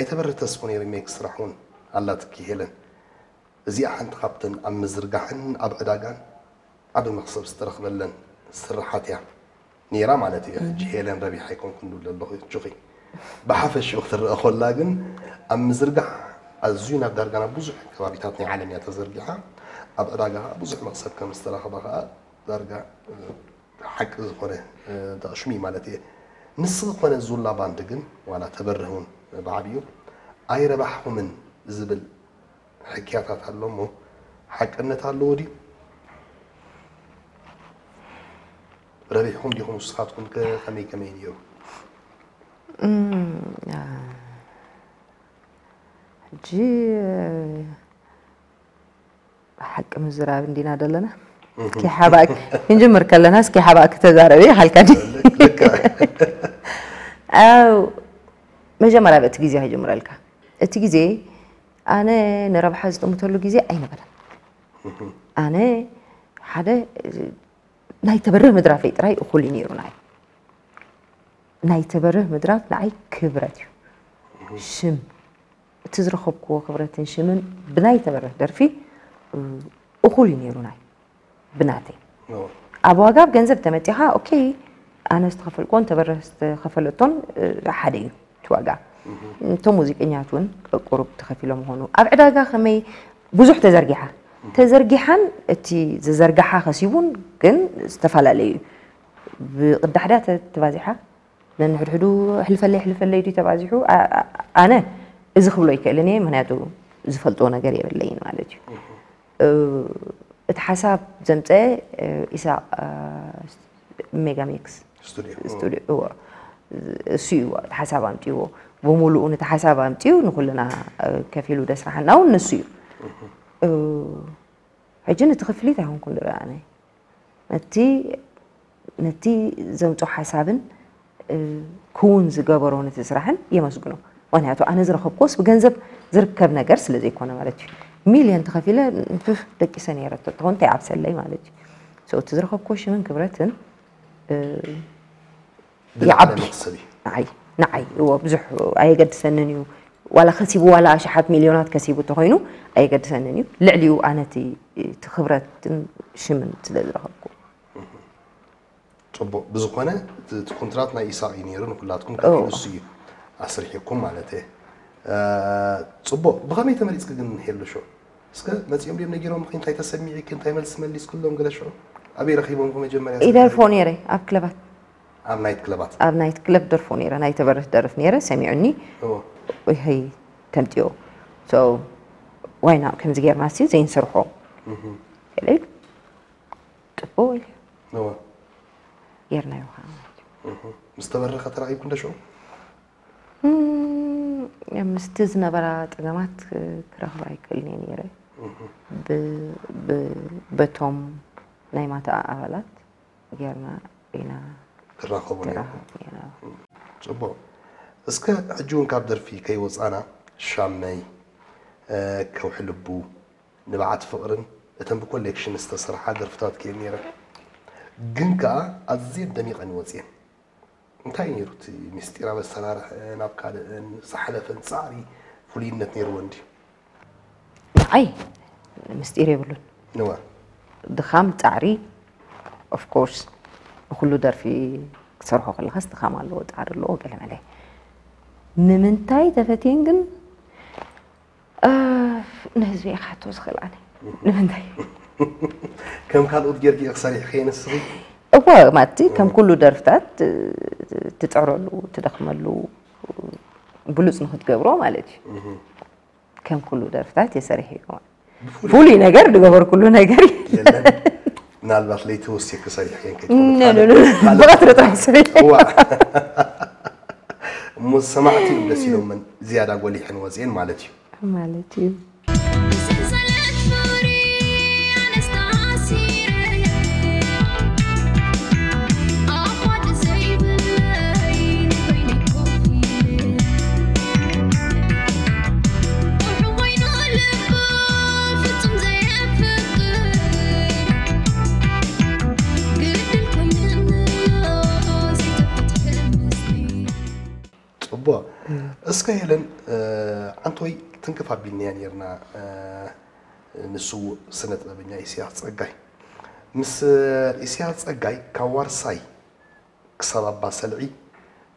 ኣይተበርህ ተስፉ ነይሩ ሜክ ስራሕ እውን ኣላትኪ ሄለን። እዚኣ ሓንቲ ካብተን ኣብ ምዝርጋሕን ኣብ ዕዳጋን ዓቢ መኽሰብ ዝተረኽበለን ስርሓት እያ ነይራ ማለት እዩ። ሕጂ ሄለን ረቢሕ ኣይኮንኩን ድብል ኣለኹ እጁኺ። ብሓፈሽኡ ክትረአ ኮላ ግን ኣብ ምዝርጋሕ ኣዝዩ ናብ ዳርጋ ናብ ብዙሕ ከባቢታት ናይ ዓለም እያ ተዘርጊሓ። ኣብ ዕዳጋ ብዙሕ መኽሰብ ከም ዝተረኽበ ከዓ ዳርጋ ሓቂ ዝኾነ ተቕሽሚ ማለት እየ። ንስኺ ኮነ ዙላ ባንድ ግን ዋላ ተበርህ እውን ብዓብዩ ኣይረባሕኹምን ዝብል ሕክያታት ኣሎ እሞ ሓቅነት ኣለዎ ድዩ? ረቢሕኩም ዲኹም ንስኻትኩም ከ ከመይ ከመይ ነይሩ? እም፣ ያ፣ ሕጂ ሓቂ ምዝራብ እንዲና ዘለና እስኪ ሓባእ ክንጅምር ከለና እስኪ ሓባእ ክተዛረበ ይሓልካ ዲ ልካ ኣው መጀመርያ በቲ ግዜ ክጅምረልካ እቲ ግዜ ኣነ ንረብሓ ዝጥምተሉ ግዜ ኣይነበረን ኣነ ሓደ ናይ ተበርህ ምድራፈይ ጥራይ እኹል እዩ ነይሩ ንዓይ ናይ ተበርህ ምድራፍ ንዓይ ክብረት እዩ ሽም እቲ ዝረኸብክዎ ክብረትን ሽምን ብናይ ተበርህ ደርፊ እኹል እዩ ነይሩ ናይ ብናተይ ኣብ ዋጋ ኣብ ገንዘብ ተመፂኻ ኦኬ ኣነ ዝተኸፈልክዎን ተበርህ ዝተኸፈለቶን ሓደ እዩ እቲ ዋጋ እቶም ሙዚቀኛት እውን ቁሩብ ተኸፊሎ ምኾኑ ኣብ ዕዳጋ ከመይ ብዙሕ ተዘርጊሓ ተዘርጊሓን እቲ ዝዘርግሓ ከሲቡን ግን ዝተፈላለዩ እዩ ብቕዳሕዳ ተባዚሓ ነንሕድሕዱ ሕልፈለይ ሕልፈለይ ድዩ ተባዚሑ ኣነ እዚ ክብሎ ይክእልን እየ ምክንያቱ ዝፈልጥዎ ነገር የብለይን ማለት እዩ እቲ ሓሳብ ዘምፀ ኢሳቅ ሜጋሜክስ ስቱዲዮ እዎ እሱ እዩ እቲ ሓሳብ ኣምፅዎ ብሙሉኡ ነቲ ሓሳብ ኣምፅኡ ንኩልና ከፊሉ ደስራሓና እውን ንሱ እዩ ሕጂ ነቲ ክፍሊት ኣይኮንኩን ዝረኣነ ነቲ ነቲ ዘምፆ ሓሳብን ክውን ዝገበሮ ነቲ ስራሕን የመስግኖ ምክንያቱ ኣነ ዝረኸብኩስ ብገንዘብ ዝርከብ ነገር ስለ ዘይኮነ ማለት እዩ ሚልዮን ተኸፊለ ደቂሰ ነይረ ተትኾን እንታይ ዓብሰለይ ማለት እዩ እቲ ዝረኸብኩ ሽምን ክብረትን ይዓቢ ንዓይ ንዓይ እዎ ብዙሕ ኣየገድሰንን እዩ ዋላ ከሲቡ ዋላ ኣሽሓት ሚልዮናት ከሲቡ እንተኮይኑ ኣየገድሰንን እዩ ልዕሊኡ ኣነቲ እቲ ክብረትን ሽምን ስለ ዝረኸብኩ ፅቡቅ ብዝኮነ እቲ ኮንትራት ናይ ኢሳቅ እዩ ነይሩ ንኩላትኩም ከፊሉ እሱ እዩ ኣስሪሕኩም ማለት እየ ፅቡቅ ብከመይ ተመሪፅኪ ግን ሄሉ ሾ እስከ መፂኦም ድዮም ነጊሮምኪ እንታይ ተሰሚዒኪ እንታይ መልሲ መሊስክሎም ገለ ሽዑ ኣበይ ረኪቦምኪ መጀመርያ ኢደርፎ ነይረ ኣብ ክለባት ኣብ ናይት ክለባት ኣብ ናይት ክለብ ደርፎ ነይረ ናይ ተበርህ ደርፍ ነይረ ሰሚዑኒ ይሀይ ተምፅኦ ዋይና ከምዚ ጌርና ሲ ዘይንሰርሖ ኢለ ጽቡቅ ኢለ እወ ጌርናዮ ከዓ ማለት እዩ። እህ፣ ምስ ተበረኸ ተራኺብኩ እንደ ሽዑ? እም፣ ምስቲ ዝነበራ ጸገማት ክረኽባ ኣይክእልን እየ ነይረ። እህ፣ ብ- ብ- በቶም ናይ ማታ ኣባላት ጌርና ኢና ትራኸቡ ነይርኩም። ተራኸብና ኢና። ጽቡቕ። እስከ ሕጂ እውን ካብ ደርፊ ከይወጻና ሻመይ፣ እ፣ ከውሒ ልቡ፣ ንብዓት ፍቕርን እተን ብኮሌክሽን ዝተሰርሓ ደርፍታት ክየን ነይረን። ግን ከኣ ኣዝየን ደሚቐን ይወጽየን። እንታይ እዩ ነይሩ እቲ ምስጢር ኣብ ኣሰራርሐን ኣብ ካልእን ዝሓለፈን ጻዕሪ ፍሉይነት ነይርወን ድዩ? ንዓይ ምስጢር የብሉን። እወ። ድኻም ጻዕሪ of course ንኹሉ ደርፊ ክትሰርሖ ከለኻስ ድኻም ኣለዎ ጻዕሪ ኣለዎ ገለ መለ ንምንታይ ተፈትየን ግን ንህዝቢ እየ ክሓቶ ዝኽእል ኣነ ንምንታይ ከም ካልኦት ጌርኪ ኢኺ ሰሪሕኺ ንስኺ እወ ማቲ ከም ኩሉ ደርፍታት ትፅዕረሉ ትደኽመሉ ብሉፅ ንክትገብሮ ማለት እዩ ከም ኩሉ ደርፍታት የሰሪሕ እዩ ፍሉይ ነገር ዝገበርኩሉ ነገር የለን ምናልባት ለይቲ ወሲኽኪ ሰሪሕክን ብቐትሪ ጥራሕ ሰሪሕ እሞ ሰማዕቲ እዮም ደስ ኢሎምን ዝያዳ ጎሊሐን ወፅኤን ማለት እዩ ማለት እዩ ቦ እስከ ሄለን፣ ዓንቶይ ትንክፍ ኣቢልናያ ነርና፣ ንስውእ ስነ ጥበበኛ ኢሳያስ ጸጋይ። ምስ ኢሳያስ ጸጋይ ካብ ዋርሳይ ክሳብ ኣባ ሰልዒ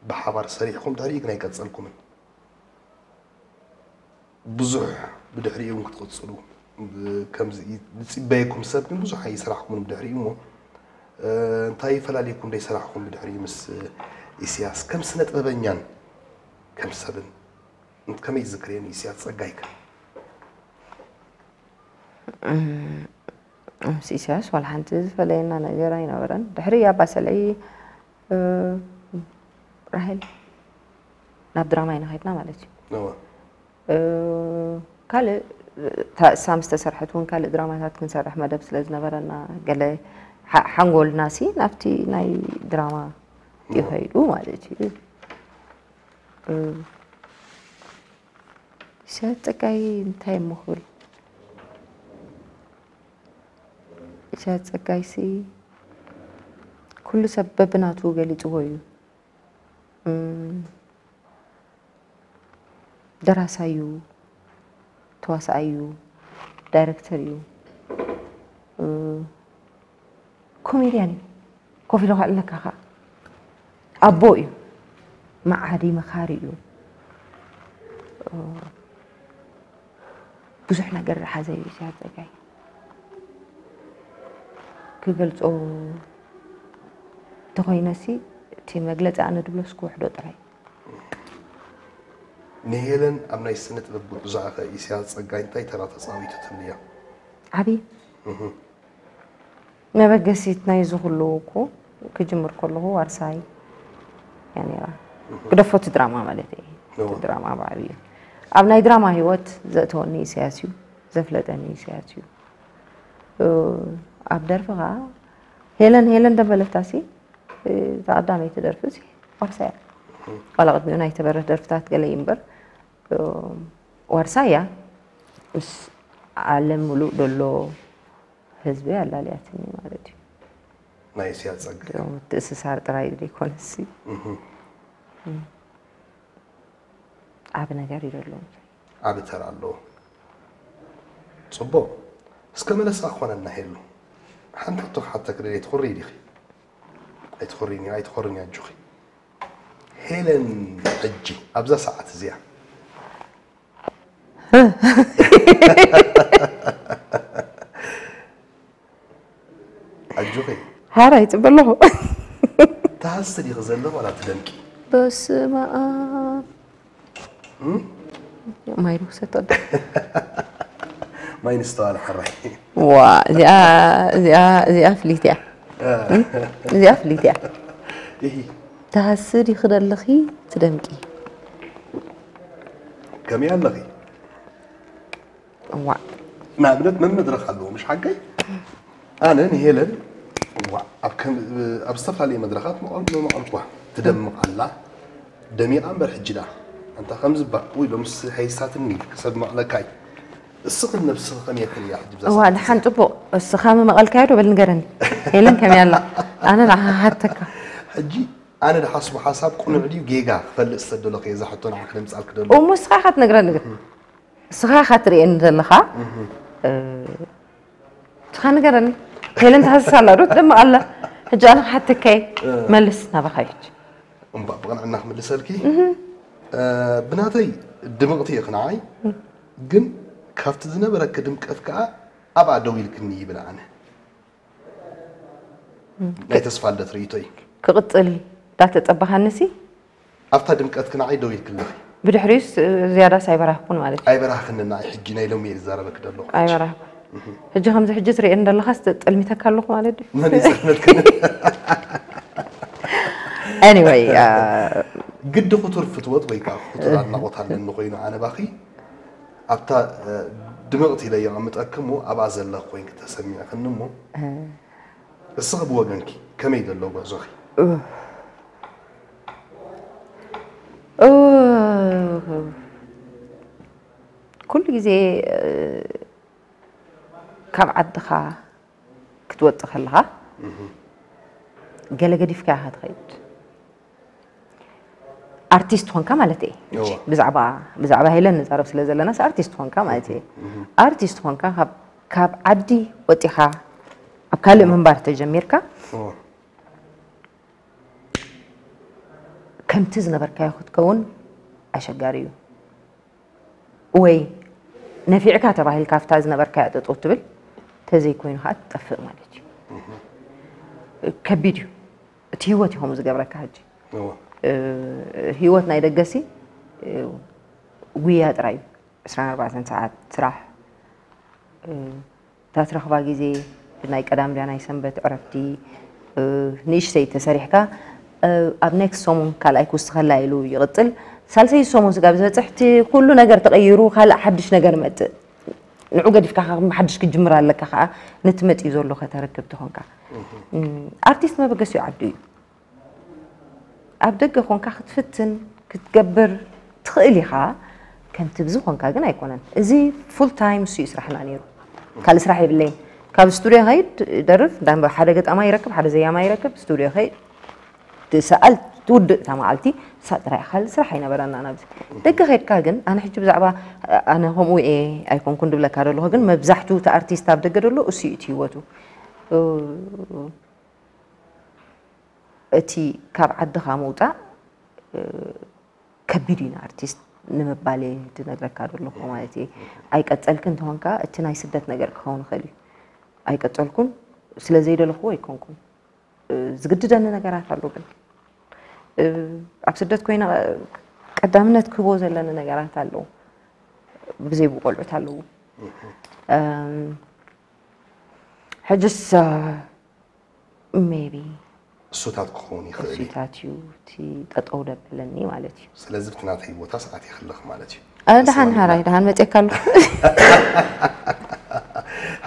ብሓባር ሰሪሕኩም ድሕሪኡ ግን ኣይቀጸልኩምን። ብዙሕ ብድሕሪኡ እውን ክትቕጽሉ ከምዚ ዝጽበየኩም ሰብ ግን ብዙሕ ኣይሰራሕኩምን ብድሕሪኡ። እሞ እንታይ ይፈላልየኩም ደይሰራሕኩም ብድሕሪኡ ምስ ኢሳያስ ከም ስነ ጥበበኛን ከም ሰብን? ከመይ ዝዝክርየን ኢሳያስ ጸጋይከ? ምስ ኢሳያስ ዋላ ሓንቲ ዝፈለየና ነገር ኣይነበረን። ድሕሪ ኣባ ሰልዒ ራሄል ናብ ድራማ ኢና ከድና ማለት እዩ። ካልእ እሳ ምስ ተሰርሐት እውን ካልእ ድራማታት ክንሰርሕ መደብ ስለ ዝነበረና ገለ ሓንጎልና ሲ ናብቲ ናይ ድራማ እዩ ከይዱ ማለት እዩ። ኢሳያስ ጸጋይ እንታይ እሞ ክብል? ኢሳያስ ጸጋይሲ ኩሉ ሰብ በብናቱ ገሊጽዎ እዩ። ደራሳይ እዩ፣ ተዋሳኣይ እዩ፣ ዳይረክተር እዩ፣ ኮሜድያን እዩ። ኮፍ ኢሉ ከዕልለካ ከኣ ኣቦ እዩ፣ መዓዲ መኻሪ እዩ። ብዙሕ ነገር ዝሓዘ እዩ ኢሳያስ ጸጋይ። ክገልጾ እንተኾይነሲ እቲ መግለጺ ኣነ ድብሎስ ክውሕዶ ጥራይ። ንሄለን ኣብ ናይ ስነ ጥበብ ጉዕዞኣ ከ ኢሳያስ ጸጋይ እንታይ ተራ ተጻዊቱ ትብልያ? ዓቢ መበገሲት ናይዚ ኩሉ እኮ ክጅምር ከለኹ ዋርሳይ እያ ነይራ። ግደፎ እቲ ድራማ ማለት እየ። እቲ ድራማ ብዓብዩ ኣብ ናይ ድራማ ህይወት ዘእተወኒ ኢሳያስ እዩ፣ ዘፍለጠኒ ኢሳያስ እዩ። ኣብ ደርፊ ኸዓ ሄለን ሄለን ደበለታሲ እዛ ቀዳመይቲ ደርፊ ዋርሳይ እያ። ዋላ ቅድሚኡ ናይ ተበረህ ደርፍታት ገለ እዩ እምበር ዋርሳይ እያ። ምስ ዓለም ሙሉእ ደሎ ህዝቢ ኣላልያትኒ ማለት እዩ። ናይ እስያ ጸጋ ምትእስሳር ጥራይ ዘይኮነሲ ዓብ ነገር እዩ ዘሎ። ዓብ ተራ ኣለዎ። ጽቡቕ። እስከ መለሳ ክኾነና ሄሉ። ሓንቲ ሕቶ ክሓተክ ደልየ ትኹሪ ዲኺ? ኣይትኾሪኒ ኣይትኾሪኒ ኣጆኺ። ሄለን ሕጂ ኣብዛ ሰዓት እዚኣ ኣጆኺ ሓራ ይፅበ ኣለኹ። ትሃሲ ዲኺ ዘለኺ ዋላ ትደምቂ? በስመ ኣብ ማይ ንውሰድ። ማይ ንስተዋል ሕራይ። ዋ እዚኣ እዚኣ እዚኣ ፍልይቲ እያ። እዚኣ ፍልይቲ እያ። ይሂ ትሃሲ ዲኺ ደለኺ ትደምቂ? ከመይ ኣለኺ? እዋእ ንኣብነት መን መድረኽ ኣለዎ ምሽ ሓቀይ? ኣነ ንሄለን እዋእ ኣብ ከም ኣብ ዝተፈላለየ መድረኻት መቐል መቐልኳ ትደምቕ ኣላ። ደሚቓ እምበር ሕጂ ደኣ ኣንታ ከምዚ እባ ውይ ሎምስ ሓይሳትኒ ክሰብ መቕለካይ። እስኺ ነብስኺ ከመይ ትርእያ ሕጂ ብዛ እዋ ሰዓት ደሓን ጽቡቕ እስኻ ምመቐልካዮ ዶ በል ንገረኒ። ሄለን ከመይ ኣላ? ኣነ ንዓኻ ክሓተካ። ሕጂ ኣነ ድሓስቦ ሓሳብ ቁኑዕ ድዩ ጌጋ ክፈልጥ ዝተደለኹ እየ እዛ ሕቶ ንዓኺ ደምጻልኪ ደሎ። እሞ እስኻ ኢኻ ትነግረኒ ግን እስኻ ኢኻ ትርእየኒ ዘለኻ። እስኻ ንገረኒ። ሄለን ትሃስስ ኣላ ዶ ትደምቕ ኣላ? ሕጂ ኣነ ክሓተካ እየ። መልስ ናባኻ እዩ። እምባ ብቕንዕና ክምልሰልኪ ብናተይ ድምቕቲ ኢኺ ንዓይ ግን ካብቲ ዝነበረኪ ድምቀት ከኣ ኣብኣ ደው ኢልክኒ ይብል ኣነ። ናይ ተስፋ ልደት ርእይቶ እዩ። ክቕጽል ዳተጸበኻንሲ ኣብታ ድምቀትኪ ንዓይ ደው ኢልኪ ኣለኺ። ብድሕሪኡስ ዝያዳስ ኣይበራህኩን ማለት እዩ። ኣይበራህክኒ ንዓይ ሕጂ ናይ ሎሚ እየ ዝዛረበኪ ዘለኹ። ሕጂ። ኣይበራህኩን። ሕጂ ከምዚ ሕጂ ትርእየኒ ዘለኻስ ጠልሚተካ ኣለኹ ማለት ድዩ? መን ይዘነትክኒ? Anyway ግዲ ክቱር ፍትወት ወይ ከዓ ክቱር ኣድናቖት ኣለኒ ኮይኑ ኣነ ባኺ ኣብታ ድምቕቲ ኢለ የቐምጠኪ እሞ ኣብኣ ዘለኺ ኮይንኪ ተሰሚዕክኒ እሞ እስኺ ብወገንኪ ከመይ ዘሎ ጉዕዞኺ? ኩሉ ግዜ ካብ ዓድኻ ክትወፅእ ከለኻ ገለ ገዲፍካ ኢኻ ትኸይድ። ኣርቲስት ኾንካ ማለት እየ። እወ። ብዛዕባ ብዛዕባ ሄለን ንዛረብ ስለ ዘለናስ ኣርቲስት ኾንካ ማለት እየ። ኣርቲስት ኾንካ ካብ ካብ ዓዲ ወጢኻ ኣብ ካልእ ምንባር ተጀሚርካ እወ። ከምቲ ዝነበርካዮ ክትከውን ኣሸጋሪ እዩ። ወይ ነፊዕካ ተባሂልካ ኣብታ ዝነበርካያ ጠጠው ትብል፣ ተዘይኮይኑ ከዓ ትጠፍእ ማለት እዩ። ከቢድ እዩ። እቲ ህይወት እዩ ከምኡ ዝገብረካ። ሕጂ እወ። እ፣ ህይወት ናይ ደገሲ፣ እ፣ ጉያ ጥራይ እዩ። ዕስራን ኣርባዕተን ሰዓት ስራሕ፣ እ፣ እታ ትረኽባ ግዜ ናይ ቀዳም ድያ ናይ ሰንበት ዕረፍቲ፣ እ፣ ንእሽተይ ተሰሪሕካ፣ እ፣ ኣብ ኔክስት ሰሙን ካልኣይ ክውስኸላ ኢሉ ይቕጽል። ሳልሰይ ሰሙን ስጋብ ዝበጽሕ እቲ ኩሉ ነገር ተቐይሩ ካልእ ሓድሽ ነገር መጽእ። ንዑ ገዲፍካ ካብ ሓድሽ ክጅምር ኣለካ ከዓ ነቲ መጺኡ ዘሎ ከተረክብ ተኾንካ። እም፣ ኣርቲስት መበገሲኡ ዓዱ እዩ። ኣብ ደገ ኮንካ ክትፍትን ክትገብር ትኽእል ኢኻ፣ ከምቲ ብዚ ኮንካ ግን ኣይኮነን። እዚ ፉል ታይም እሱ እዩ ስራሕና ነይሩ። ካልእ ስራሕ የብለይን። ካብ ስቱድዮ ኸይድ ደርፍ፣ እንዳ ሓደ ገጣማይ ይረክብ፣ ሓደ ዘያማይ ይረክብ፣ ስቱድዮ ኸይድ ትሰኣል፣ ትውድእ እታ መዓልቲ፣ ንሳ ጥራይ ካልእ ስራሕ ኣይነበረና ናብዚ። ደገ ኸይድካ ግን፣ ኣነ ሕጂ ብዛዕባ ኣነ ከምኡ እየ ኣይኮንኩን ድብለካ ደለኹ፣ ግን መብዛሕቱ እቲ ኣርቲስት ኣብ ደገ ደሎ እሱ እዩ እቲ ህይወቱ። እቲ ካብ ዓድኻ ምውጻእ፣ እ፣ ከቢድ እዩ ንኣርቲስት ንምባል እየ ዝነግረካ ዘለኹ ማለት እየ። ኣይቀጸልክን እንተኾንካ እቲ ናይ ስደት ነገር ክኸውን ይኽእል እዩ። ኣይቀጸልኩን ስለ ዘይደለኽዎ ኣይኮንኩን። እ፣ ዝግድደኒ ነገራት ኣሎ ግን፣ እ፣ ኣብ ስደት ኮይነ ቀዳምነት ክህቦ ዘለኒ ነገራት ኣለዉ። ብዘይ ብቆልዑት ኣለዉ። እም፣ ሕጅስ፣ እ፣ ሜቢ እሱታት ክኸውን ይኽእል እዩ። እሱታት እዩ እቲ ጠጠው ደበለኒ ማለት እዩ። ስለዚ ብቲ ናተይ ቦታ ሰዓት ይኽልኽ ማለት እዩ። እ፣ ደሓን ንስዋ ሃራይ፣ ንብላ። ደሓን መፅየካ ኣለኹ።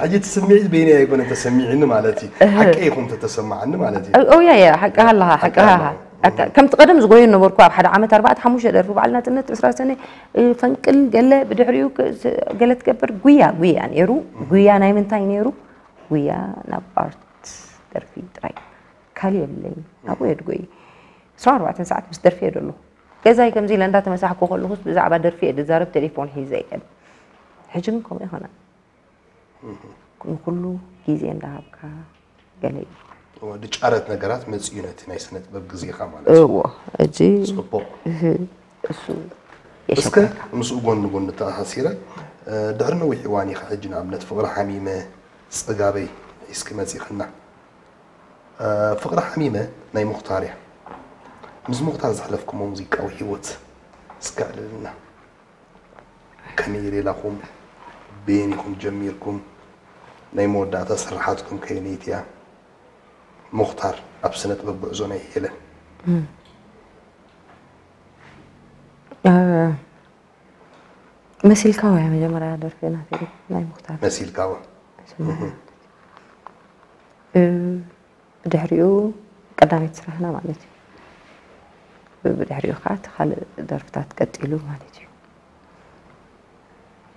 ሕጂ እቲ ስምዒት በይነይ ኣይኮነን ተሰሚዕኒ ማለት እዩ። እህ። ሓቀይ ኢኹም ተተሰማዓኒ ማለት እዩ። ኦ፣ ያ፣ ያ፣ ሓቅኻ ኣለኻ፣ ሓቅኻ ሓቅኻ ኣለኻ። ኣለኻ። ኣካ-፣ ከምቲ ቀደም ዝጎዩ ነበርኩ፣ ኣብ ሓደ ዓመት ኣርባዕተ ሓሙሽተ ደርፊ በዓል ናጽነት ዕስራ ሰነ፣ እ፣ ፈንቅል ገለ ብድሕሪኡ ክ-፣ ስ-፣ ገለ ትገብር፣ ጉያ፣ ጉያ ነይሩ። እህ። ጉያ ናይ ምንታይ ነይሩ? ጉያ ናብ ኣርት ደርፊ ጥራይ። ካልእ የብለይን። ኣብኡ እየ ድጎይ። ዕስራን ኣርባዕተን ሰዓት ምስ ደርፊ እየ ደሎ። ገዛይ ከምዚ ኢለ እንዳተመሳሕኩ ከለኹስ ብዛዕባ ደርፊ እየ ድዛረብ፣ ቴሌፎን ሒዘ እየ። ሕጂ ግን ከምኡ ኣይኮነን። እህ። ንኩሉ ግዜ እንዳሃብካ ገለ እዩ። እወ፣ ድጫረት ነገራት መጺኡ ነቲ ናይ ስነ ጥበብ ግዜኻ ማለት እዩ። እዎ፣ ሕጂ ጽቡቕ። እህ፣ እሱ እስከ የሸግረካ። ምስኡ ጎን ንጎን ተኣሳሲረ፣ እ፣ ድሕሪ ነዊሕ እዋን ኢኻ ሕጂ ንኣብነት ፍቕሪ ሓሚመ ጽጋበይ ሒዝኪ መጺኽና። እ፣ ፍቕሪ ሓሚመ ናይ ሙኽታር እያ። ምስ ሙኽታር ዘሕለፍኩሞ ሙዚቃዊ ህይወት እስከ ኣዕልልና። ከመይ ሌላኹም? በየን ኢኹም ጀሚርኩም? ናይ መወዳእታ ስርሓትኩም ከየነይቲ እያ? ሙኽታር ኣብ ስነ ጥበብ ጉዕዞ ናይ ሄለን። እም። እ፣ መሲልካዋ እያ መጀመርያ ደርፊ ናተይ ናይ ሙኽታር። መሲልካዋ። መሲልካዋ። እም። እ፣ ብድሕሪኡ ቀዳመይቲ ስራሕና ማለት እዩ። ብድሕሪኡ ከዓ እቲ ካልእ ደርፍታት ቀጢሉ ማለት እዩ።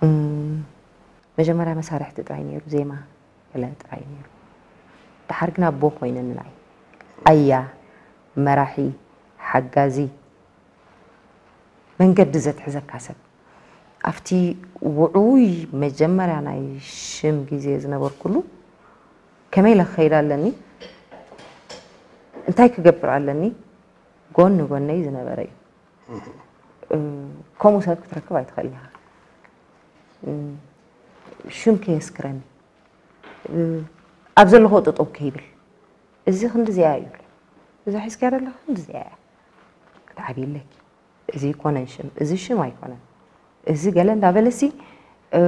እም፣ መጀመርያ መሳርሕቲ ጥራይ ነይሩ፣ ዜማ ገለ ጥራይ ነይሩ። ደሓር ግን ኣቦ ኮይነኒ ንዓይ። ኣያ፣ መራሒ፣ ሓጋዚ፣ መንገዲ ዘትሕዘካ ሰብ። ኣብቲ ውዑይ መጀመርያ ናይ ሽም ግዜ ዝነበርኩሉ፣ ከመይ ኢለ ክኸይድ ኣለኒ፣ እንታይ ክገብር ኣለኒ፣ ጎኒ ጎነይ ዝነበረ እዩ። እ፣ ከምኡ ሰብ ክትረክብ ኣይትኽእልን ኢኻ። እ፣ ሽም ከየስክረኒ፣ እ፣ ኣብ ዘለኹ ጠጠው ከይብል፣ እዚ ክንዲ እዚኣ እዩ፣ እዚ ሒዝካያ ዘለኻ ክንዲ እዚኣ እያ፣ ክትዓብይ ኣለኪ፣ እዚ ኣይኮነን ሽም፣ እዚ ሽም ኣይኮነን፣ እዚ ገለ እንዳበለሲ፣ እ፣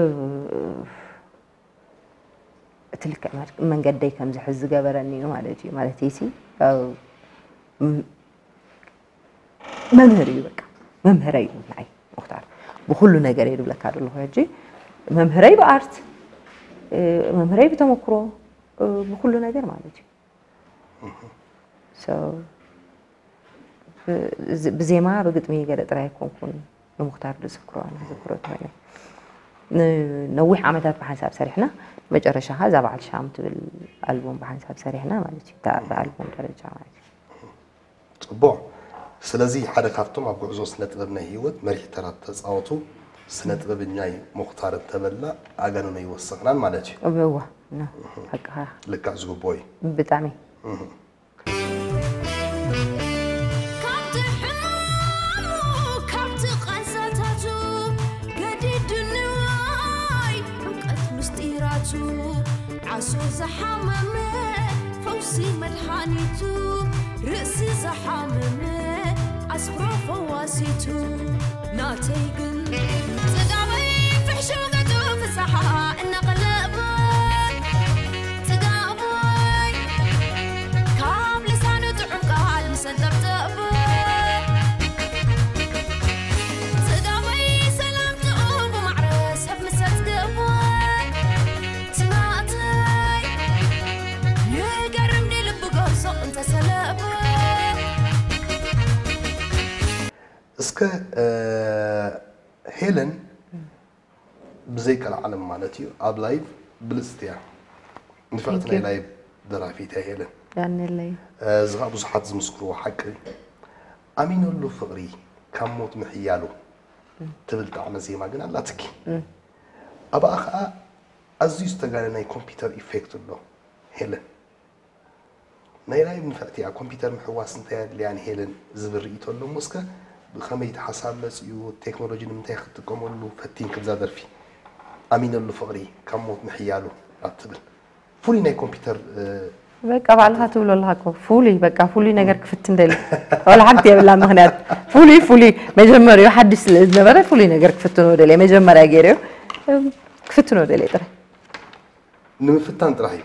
እቲ ልክዕ መድ-፣ መንገደይ ከም ዝሕዝ ዝገበረኒ እዩ ማለት እዩ። ማለት ሲ፣ እ፣ ም-፣ መምህር እዩ በቃ። መምህረይ እዩ ንዓይ ሙኽታር። ብኹሉ ነገር እየ ዝብለካ ዘለኹ ሕጂ። መምህረይ ብኣርት፣ እ፣ መምህረይ ብተመክሮ፣ እ፣ ብኹሉ ነገር ማለት እዩ። So፣ ብ-፣ እዚ-፣ ብዜማ ብግጥሚ ገለ ጥራይ ኣይኮንኩን ንሙኽታር ዝዝክሮ፣ ኣነ ዝዝክሮ እንተኾይነ። ንነዊሕ ዓመታት ብሓንሳብ ሰሪሕና፣ መጨረሻ ኸዓ እዛ በዓል ሻም ትብል ኣልቡም ብሓንሳብ ሰሪሕና ማለት እዩ። እታ ብኣልቡም ደረጃ ማለት እዩ። ጽቡቕ። እስቲ ስለዚ ሓደ ካብቶም ኣብ ጉዕዞ ስነ ጥበብ ናይ ህይወት መሪሕ ተራ ተጻወቱ ስነ ጥበበኛይ ሙኽታር እንተበልና ኣጋንኖ ይወሰኽናን ማለት እዩ። እወ፣ ኖ፣ ሓቅኻ። ልክዕ ዝግብኦ እዩ። ብጣዕሚ። ካብቲ ሕማሙ ካብቲ ቃንዛታቱ ገዲዱኒ ዋይ ዕምቀት ምስጢራቱ ዓሶ ዝሓመመ ፈውሲ መድሃኒቱ ርእሲ ዝሓመመ ኣስፍሮ ፈዋሲቱ ናተይ ግን ጽጋበይ ፍሕሹ ገጹ ፍስሓ እናቐለበ ጽጋበይ ካብ ልሳኑ ጥዑም ቃል ምስ ኣንጠብጠበ ጽጋበይ ሰላምትኡ ብማዕረ ሰብ ምስ ኣጽገበ ስማእተይ ይገርም ንልቢ ገርዞ እንተሰለበ እስከ ሄለን ብዘይ ቀልዓለም ማለት እዩ ኣብ ላይቭ ብልፅቲ እያ። ንፍዕቲ Thank ናይ you. ላይቭ ደራፊት እያ ሄለን። ያንለይ እዚ ከዓ ብዙሓት ዝምስክርዎ ሓቂ እዩ። ኣሚነሉ ፍቕሪ ካብ ሞት ምሕያሉ ትብል ጣዕመ ዜማ ግን ኣላትኪ። ኣብኣ ከዓ ኣዝዩ ዝተጋነ ናይ ኮምፒውተር ኢፌክት ኣሎ። ሄለን ናይ ላይቭ ንፍዕቲ እያ። ኮምፒውተር ምሕዋስ እንታይ ኣድልያ ንሄለን ዝብል ርእይቶ ኣሎ እሞ እስከ ብኸመይ እቲ ሓሳብ መፂኡ ቴክኖሎጂ ንምንታይ ክትጥቀመሉ ፈቲንኪ ብዛ ደርፊ ኣሚነሉ ፍቕሪ ካብ ሞት ምሕያሉ ኣብ ትብል ፍሉይ ናይ ኮምፒውተር እ፣ በቃ ባዕልኻ ትብሎ ኣለኻ እኮ ፍሉይ በቃ ፍሉይ ነገር ክፍትን ደሊ ወላ ሓንቲ የብላ ምክንያት ፍሉይ ፍሉይ መጀመሪያ ሓድሽ ስለ ዝነበረ ፍሉይ ነገር ክፍትኖ ደሊ መጀመሪያ ገይረዮ ክፍትኖ ደሊ ጥራይ ንምፍታን ጥራሕ እዩ።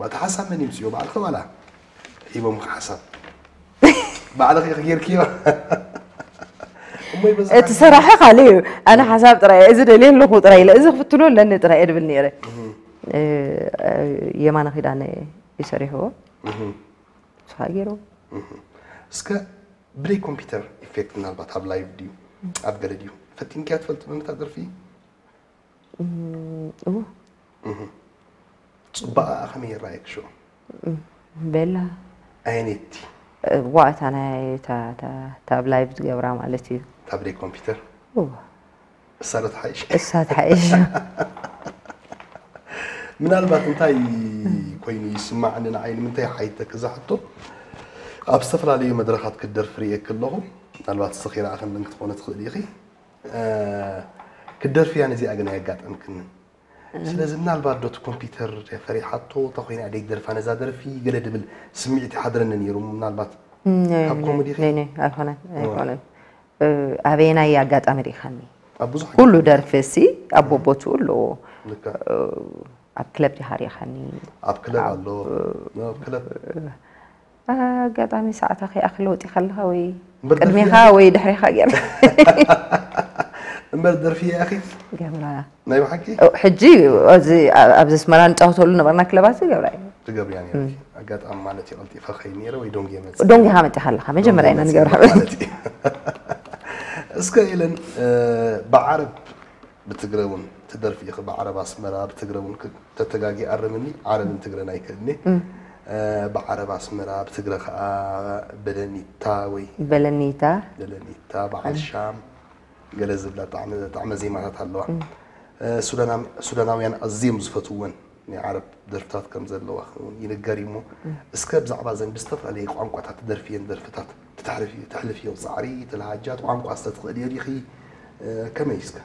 እቲ ሓሳብ መን ይምፅዮ ባዕልኺ ዋላ ሂቦምኺ ሓሳብ ባዕልኺ ኢኺ ጌርክዮ እሞ ይበዝሕ እቲ ሰራሒ ካልእ እዩ ኣነ ሓሳብ ጥራይ እዚ ደልየ ኣለኹ ጥራይ ኢለ እዚ ክፍትኖ ኣለኒ ጥራይ እየ ድብል ነይረ እ፣ የማነ ኪዳነ ይሰሪሕዎ ንስኻ ገይሩ እስከ ብደይ ኮምፒውተር ኢፌክት ምናልባት ኣብ ላይቭ ድዩ ኣብ ገለ ድዩ ፈቲንክያ ትፈልጥ መምታ ደርፊ እዎ ፅባቐ ከመይ ይረኣየክ ሽዑ ቤላ ኣየነይቲ ዋእታ ናይ እታ እታ- እታ ኣብ ላይቭ ዝገብራ ማለት እዩ እታ ብደይ ኮምፒውተር እዎ እሳ ዶ ትሓይሽ እሳ ትሓይሽ ምናልባት እንታይ ኮይኑ ይስማዓኒ ንዓይ ንምንታይ ሓይተክ እዛ ሕቶ ኣብ ዝተፈላለዩ መድረኻት ክትደርፊ ርእየክ ኣለኹ ምናልባት እስኺ ረኣኽንን ክትኾነ ትኽእል ኢኺ እ፣ ክትደርፍያ ነዚኣ ግን ኣየጋጠምክንን ስለዚ ምናልባት ዶ እቲ ኮምፒውተር ፈሪሓቶ ተኮይና ደይ ደርፋ ነዛ ደርፊ ገለ ድብል ስምዒት ይሓድረኒ ነይሩ ምናልባት ካብ ኮሜዲ ኸ? ነይ ነይ ኣይኮነን ኣይኮነን እ፣ ኣበየናይ ኣጋጣሚ ርኢኻኒ ኣብ ብዙሕ ኩሉ ደርፊ ሲ ኣብ ቦቦትኡ ኣለዎ ልክዕ ኣብ ክለብ ዲኻ ርኢኻኒ ኣብ ክለብ ኣሎ ኣብ ክለብ ኣጋጣሚ ሰዓታ ከይኣኽል ወፂ ከለኻ ወይ እምበር ቅድሜኻ ደርፊ- ወይ ድሕሬኻ ገይር እምበር ደርፊ እያ ኣኺ ገብራ ናይ ብሓቂ ሕጂ ኣብዚ ኣብዚ ኣስመራ ንፃወተሉ ነበርና ክለባት ገብራ እዩ ትገብርያ ነርኪ ኣጋጣሚ ማለት እዩ ቀልጢፈ ከይ ነይረ ወይ ዶንጌ መፅ ዶንጊኻ መፂኻ ኣለኻ መጀመርያ ኢና ንገብራ እስከ ኢለን ብዓረብ ብትግረ እውን ትደርፊ ኢኺ ብዓረብ ኣስመራ ብትግረ እውን ተተጋጊ ኣርምኒ ዓረብን ትግረን ኣይክእልኒ ብዓረብ ኣስመራ ብትግረ ከዓ በለኒታ ወይ በለኒታ በለኒታ በዓል ሻም ገለ ዝብላ ጣዕመ ጣዕመ ዜማታት ኣለዋ ሱዳናውያን ኣዝዮም ዝፈትውወን ናይ ዓረብ ደርፍታት ከም ዘለዋ እውን ይንገር እዩ እሞ እስከ ብዛዕባ ዘን ብዝተፈላለየ ቋንቋታት ትደርፍየን ደርፍታት ተሕልፍዮ ፃዕሪ ተለሃጃት ቋንቋ ዝተትኽእልዮ ዲኺ ከመይ እስከ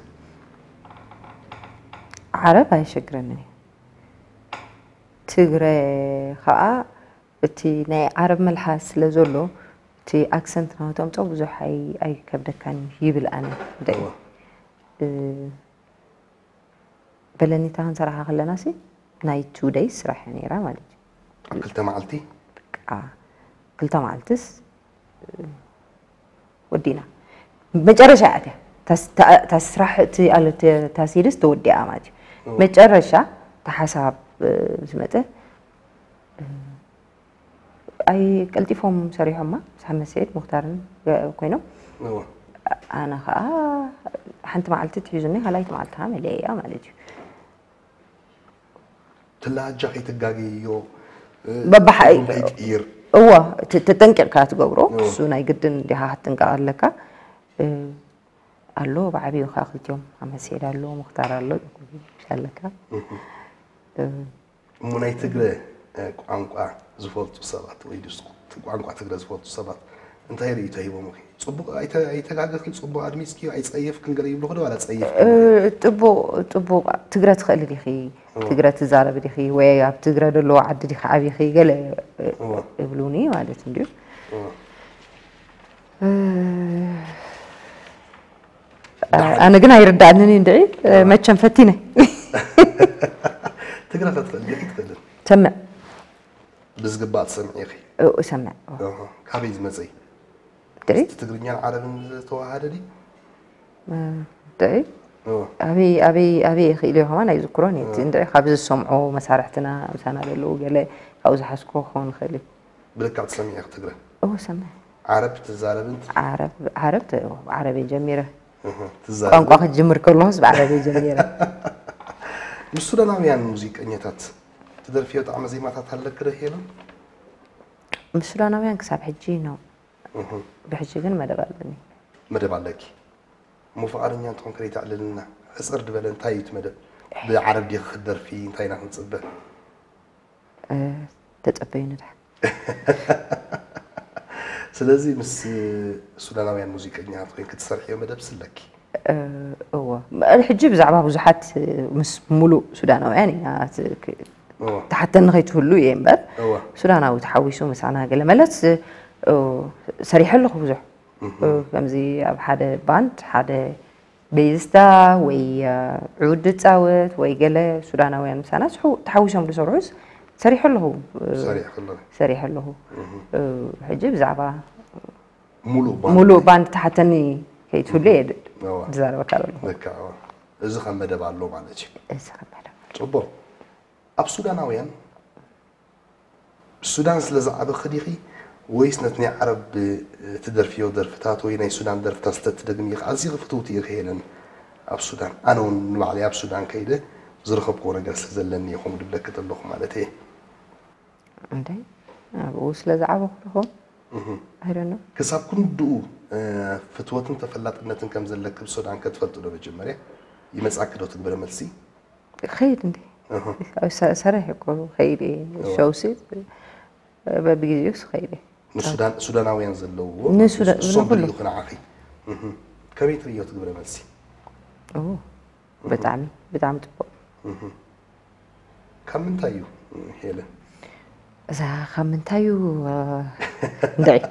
ዓረብ ኣየሸግረንን እዩ ትግረ ከዓ እቲ ናይ ዓረብ መልሓስ ስለ ዘሎ እቲ ኣክሰንት ናቶም ጸው ብዙሕ ኣይከብደካን ይብል ኣነ ደይ በለኒታ ክንሰራሓ ከለና ሲ ናይ ቱ ደይ ስራሕ እያ ነይራ ማለት እዩ ኣብ ክልተ መዓልቲ በቃ ክልተ መዓልትስ ወዲና መጨረሻ እያ እቲያ ታስራሕ ታሲድስ ተወዲኣ ማለት እዩ መጨረሻ ተሓሳብ ዝመፀ ኣይ ቀልጢፎም ሰሪሖማ ምስ ሓመድ ስዒድ ሙክታርን ኮይኖም ኣነ ከዓ ሓንቲ መዓልቲ ትሒዙኒ ካልኣይቲ መዓልቲ ከዓ መለየያ ማለት እዩ ትላጃ ከይትጋገዮ በባሓይ ከይትቅይር እዋ፣ ተ-፣ ተጠንቂቕካ ትገብሮ። እዋ። እሱ ናይ ግድን እንዲኻ ክትጥንቀቕ ኣለካ። እ፣ ኣሎ፣ ብዓብዩ ከኣ ክልቲኦም፣ ኣመሴድ ኣሎ፣ ሙኽታር ኣሎ፣ ኣለካ። እህ። እ፣ እሞ ናይ ትግረ፣ እ፣ ቋንቋ ዝፈልጡ ሰባት ወይ ድስ ቋንቋ ትግረ ዝፈልጡ ሰባት እንታይ ርእይቶ ሂቦምኺ? ጽቡቕ ኣይተ-፣ ኣይተጋገኽን፣ ጽቡቕ ኣድሚጽኪ፣ ኣይጸየፍክን ገለ ይብሉኺ ዶ ዋላ ጸየፍክን? እ፣ ጽቡቕ፣ ጽቡቕ ትግረ ትኽእሊ ዲኺ? እዋ። ትግረ ትዛረቢ ዲኺ? ወይ ኣብ ትግረ ደለዎ ዓዲ ዲኺ ዓቢኺ? ገለ፣ እ፣ እዋ። ይብሉኒ ማለት እንድዩ። እዋ። እ፣ ደሓን። ኣነ ግን ኣይርዳእንን እዩ እንድዒ፣ እዋ። መቸም ፈቲነ። ትግረ ከትኽእል ዲኺ ትኽእልን? ሰምዕ። ብዝግባእ ትሰምዒ ኢኺ? እው፣ እሰምዕ። እዋ። እሁ። ካበይ ዝመጸ እዩ? ድዒ? ምስቲ ትግርኛን ዓረብን ዝተዋሃደ ድዩ? እ፣ ድዒ? እዋ። ኣበይ፣ ኣበይ፣ ኣበይ ክኢሉ እዩ ከማን ኣይዝክሮን እዩ። እቲ እዋ። እንድዒ ካብ ዝሰምዖ መሳርሕትና ምሳና ዘለዉ ገለ ካብኡ ዝሓዝኮ ክኸውን ይኽእል እዩ። ብልክዕ ትሰምዒ ኢኺ ትግረ? እዎ፣ ሰምዕ። ዓረብ ትዛረቢ እንት? ዓረብ፣ ዓረብ ተ-፣ ዓረብ እየ ጀሚረ። እህ፣ ትዛረቢ? ቋንቋ ክጅምር ከለኹስ ብዓረብ እየ ጀሚረ። ምስ ሱዳናውያን ሙዚቀኛታት ትደርፍዮ ጣዕመ ዜማታት ኣለኪ ዶ ሄለን? ምስ ሱዳናውያን ክሳብ ሕጂ ነው። እህ። ብሕጂ ግን መደብ ኣለኒ። መደብ ኣለኪ። እሞ ፍቓደኛ እንተኾንኪ ርእይ ተዕልልና። ሕጽር ዝበለ እንታይ እዩ እቲ መደብ? ብዓረብ ዲኺ ክትደርፊ? እንታይ ኢና ክንጽበ? እ፣ ተጸበዩኒ ደሓን። ስለዚ ምስ ሱዳናውያን ሙዚቀኛታት ኮይንኪ ትሰርሕዮ መደብ ስለኪ? እ፣ እወ። ሕጂ ብዛዕባ ብዙሓት ምስ ሙሉእ ሱዳናውያን ኢና ት-፣ ክ-፣ እወ። ትሓተኒ ከይትህሉ እየ እምበር፣ እወ። ሱዳናዊ ተሓዊሱ ምሳና ገለ መለስ፣ እ፣ ሰሪሐ ኣለኹ ብዙሕ። እህ። እ፣ ከምዚ ኣብ ሓደ ባንድ፣ ሓደ ቤዝታ ወይ፣ እ፣ ዑድ ዝጻወት ወይ ገለ ሱዳናውያን ምሳና ስሑ-፣ ተሓዊሶም ዝሰርሑስ ሰሪሐ ኣለኹ። እ፣ ሰሪሕኪ ኣለኺ። ሰሪሐ ኣለኹ። እህ። እ፣ ሕጂ ብዛዕባ ሙሉእ ባንድ። ሙሉእ ባንድ ተሓተኒ ከይትህሉ እየ ድ-፣ እዋ። ዝዛረበካ ዘለኹ። ልክዕ፣ እዋ። እዚ ከም መደብ ኣሎ ማለት እዩ። እዚ ከም መደብ ኣሎ። ጽቡቕ። ኣብ ሱዳናውያን፣ ሱዳን ስለ ዝዓበኺ ዲኺ ወይስ ነቲ ናይ ዓረብ፣ እ፣ ትደርፍዮ ደርፍታት ወይ ናይ ሱዳን ደርፍታት ስለ ትደግሚ ኢኺ ኣዚኺ ፍትውቲ ኢኺ ሄለን ኣብ ሱዳን? ኣነ እውን ንባዕለይ ኣብ ሱዳን ከይደ ዝረኸብክዎ ነገር ስለ ዘለኒ እየ ከምኡ ዝብለኪ ዘለኹ ማለት እየ። እንዴ፣ ኣብኡ ስለ ዝዓበኹ ዶ ኾን? እህ። I don't know። ክሳብ ክንድኡ፣ እ፣ ፍትወትን ተፈላጥነትን ከም ዘለኪ ብሱዳን ከ ትፈልጢ ዶ መጀመርያ? ይመጻኪ ዶ ትግብረ መልሲ? ክኸይድ እንዴ? እህ። ኣብ ሰ-፣ ሰሪሐ እኮ ክኸይድ እየ። እዋ። ሸውሲ፣ በብግዜኡስ ክኸይድ እየ። ንሱዳን-፣ ሱዳናውያን ዘለውዎ ንሱዳ-፣ ንሶም ንኹሉ። ዝልእኹ ንዓኺ። እህ። ከመይ ትርእዮ ትግብረ መልሲ? ኦ፣ እህ። ብጣዕሚ፣ ብጣዕሚ ጽቡቕ። እህ። ካብ ምንታይ እዩ፣ ሄለን? እዛ ካብ ምንታይ እዩ፣ እ፣ እንድዒ?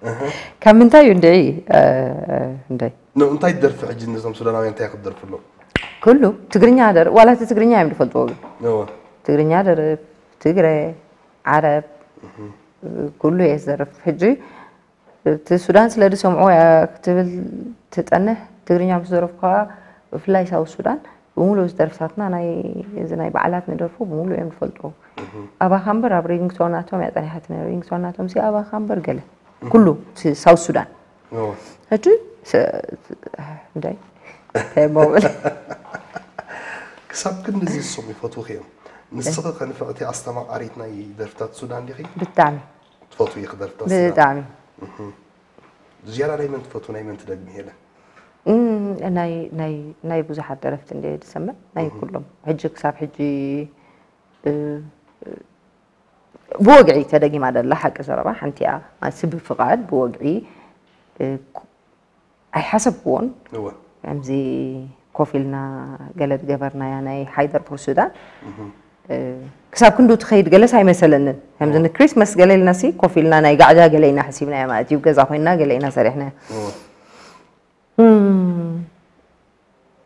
እህ። ካብ ምንታይ እዩ እንድዒ፣ እ፣ እንድዒ? ኖ፣ እንታይ ትደርፊ ሕጂ? ነዞም ሱዳናውያን እንታይ ክትደርፍሎም? ኩሉ ትግርኛ ደር-፣ ዋላ እቲ ትግርኛ እዮም ዝፈልጥዎ ግን። እወ። ትግርኛ ደርፍ፣ ትግረ፣ ዓረብ፣ እህ። ኩሉ እየ ዝደርፍ። ሕጂ እቲ ሱዳን ስለ ዝሰምዑ እያ ክትብል ትጸንሕ፣ ትግርኛ ምስ ደረፍኩ ከኣ፣ ብፍላይ ሳውት ሱዳን፣ ብምሉእ እዚ ደርፍታትና ናይ፣ እዚ ናይ በዓላት ንደርፎ ብምሉእ እዮም ዝፈልጥዎ። እህ። ኣባኻ እምበር ኣብ ሪንግቶን ናቶም እያ ጸኒሓትኒ። ሪንግቶን ናቶም ሲ ኣባኻ እምበር ገለ። እህ። ኩሉ ሲ-፣ ሳውት ሱዳን። እዎ። ሕጂ ስ-፣ እንታይ? እንታይ እሞ ብል? ክሳብ ክንድዚ ዝሰሙ ይፈትዉኺ እዮም። ንስኺ ከ ንፍዕቲ ኣስተማቓሪት ናይ ደርፍታት ሱዳን ዲኺ? ብጣዕሚ። ትፈትዊ ኢኺ ደርፍታት ሱዳን? ብጣዕሚ። እህ። ዝያዳ ናይ መን ትፈትዊ፣ ናይ መን ትደግሚ ሄለን? እም፣ ናይ፣ ናይ፣ ናይ ብዙሓት ደረፍቲ እንድየ ዝሰምዕ፣ ናይ እህ። ኩሎም። ሕጂ ክሳብ ሕጂ፣ እ፣ ብወግዒ ተደጊማ ደላ ሓቂ ዘረባ ሓንቲ እያ። ማለት ብፍቓድ፣ ብወግዒ፣ እ፣ ኩ-፣ ኣይሓሰብክዎን። እወ። ከምዚ ኮፍ ኢልና ገለ ዝገበርናያ ናይ ሓይደር ቡር ሱዳን፣ እህ። እ፣ ክሳብ ክንዱ ትኸይድ ገለስ ኣይመሰለንን። ከምዚ እወ። ንክሪስመስ ገለ ኢልና ሲ ኮፍ ኢልና ናይ ጋዕዳ ገለ ኢና ሓሲብናያ ማለት እዩ። ገዛ ኮይንና ገለ ኢና ሰሪሕናያ። እወ። እም፣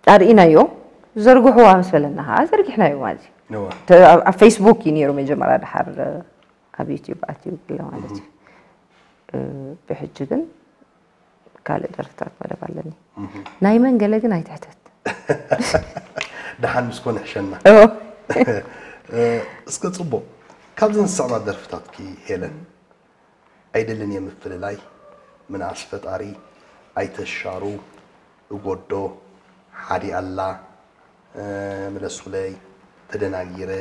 ኣርኢናዮ፣ ዘርግሕዋ ምስ በለና ኸዓ ዘርጊሕናዮ ማለት እዩ። እወ። ተ-፣ ኣብ፣ ኣብ ፌስቡክ እዩ ነይሩ መጀመርያ፣ ደሓር ኣብ ዩትዩብ ኣትዩ ገለ ማለት እዩ። እህ። እ፣ ብሕጂ ግን ካልእ ደርፍታት መደብ ኣለኒ። እህ። ናይ መን ገለ ግን ኣይትሕተት። ደሓን ምስ ኮነ ሕሸና። እዎ። እ፣ እስከ ጽቡቕ። ካብዘን ዝስዕባ ደርፍታትኪ ሄለን፣ ኣይደልን እየ ምፍልላይ፣ ምንኣስ ፈጣሪ፣ ኣይተሻሩ፣ እጎዶ፣ ሓዲ ኣላ፣ እ፣ ምለሱለይ፣ ተደናጊረ፣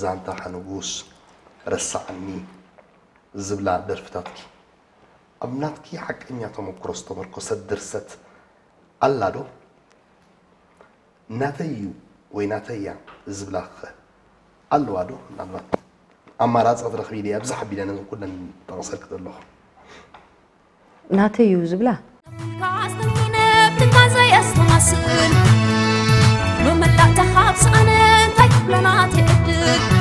ዛንታ ሓንጉስ፣ እ፣ ረሳዕኒ ዝብላ ደርፍታትኪ ኣብ ናትኪ ሓቀኛ ተመክሮ ዝተመርኮሰት ድርሰት ኣላ ዶ? ናተይ እዩ ወይ ናተይ እያ ዝብላ ኸ ኣለዋ ዶ? ምናልባት ኣማራፂ ክትረኽቢ ኢለ ኣብዚ ሓቢለ ነዚ ኩለን ጠቕሰልኪ ዘለኹ። ናተይ እዩ ዝብላ ካስተሚነ ብትካዘይ ኣስተማስል መመላእታ ካብ ሰኣነ እንታይ ክብለና ትዕድል